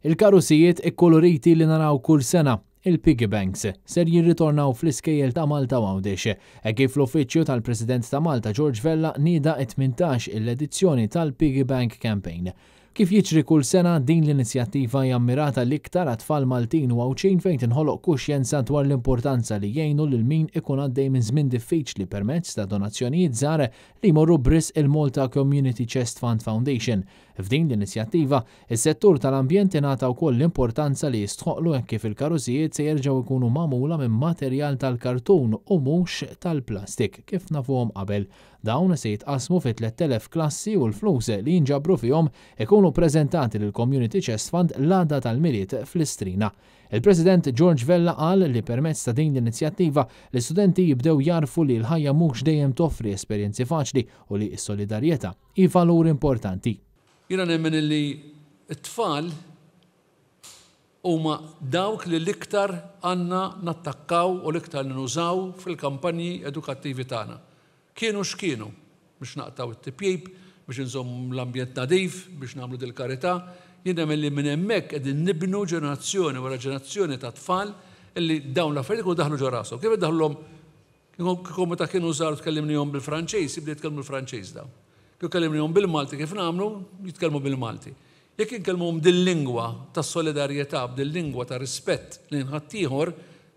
Il-karusijiet ikkoloriti li naraw kull sena, il-piggy banks, ser jirritornaw fl-iskejjel ta' Malta u Għawdex. Hekk kif l-Uffiċċju tal-President ta' Malta George Vella nieda t-18 il-edizzjoni tal-Piggy Bank Campaign. Kif jiġri kull sena, din l-inizjattiva hija mmirata l-iktar għat-tfal Maltin u Għawdxin fejn tinħoloq kuxjenza dwar l-importanza li jgħinu lil min ikun għaddej minn żmien diffiċli permezz ta' donazzjonijiet żgħar li jmorru b'risq il-Malta Community Chest Fund Foundation. F'din l-inizjattiva, is-settur tal-ambjent ingħata wkoll l-importanza li jistħoqqlu hekk kif il-karusijiet se jerġgħu jkunu magħmula minn materjal tal-kartun u mhux tal-plastik kif nafuhom qabel. Dawn se jitqassmu fi 3,000 klassi u l-flus li jinġabru fihom ikunu ppreżentati lill-Community Chest Fund l-għada tal-Milied fl-Istrina. Il-President George Vella qal li permezz ta' din l-inizjattiva l-istudenti jibdew jagħrfu li l-ħajja mhux dejjem toffri esperjenzi faċli u li s-solidarjetà hi valur importanti. Jiena nemmen illi t-tfal huma dawk li l-iktar għandna nattakkaw u l-iktar li nużaw fil-kampanji edukattivi tagħna. Kienu x'kienu, biex naqtgħu t-tipjip, biex inżommu l-ambjent nadif, biex nagħmlu dil-karità, jien nemmen li minn hemmhekk qegħdin nibnu ġenerazzjoni wara ġenerazzjoni ta' tfal illi dawn l-affarijiet ikunu daħlu ġo rashom. Kif iddaħħlulhom Kieku meta kienu żgħar tkellimnihom bil-Franċiż, jibdew jitkellmu l-Franċiż dawn. Kieku kellimnihom bil-Malti kif nagħmlu, jitkellmu bil-Malti. Jekk inkellmuhom dil-lingwa ta' solidarjetà, b'dil-lingwa ta' rispett lejn ħaddieħor,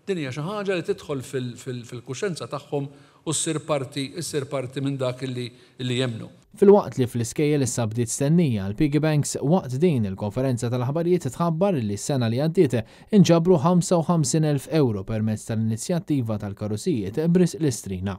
din hija xi ħaġa li tidħol fil-kuxjenza tagħhom u ssir parti ssir parti minn dak li jemmnu. Filwaqt li fl-iskejjel issa bdiet stennija għall-piggy banks, waqt din il-konferenza tal-aħbarijiet tħabbar li s-sena li għaddiet inġabru 55,000 ewro permezz tal-inizjattiva tal-karusijiet b'risq l-Istrina.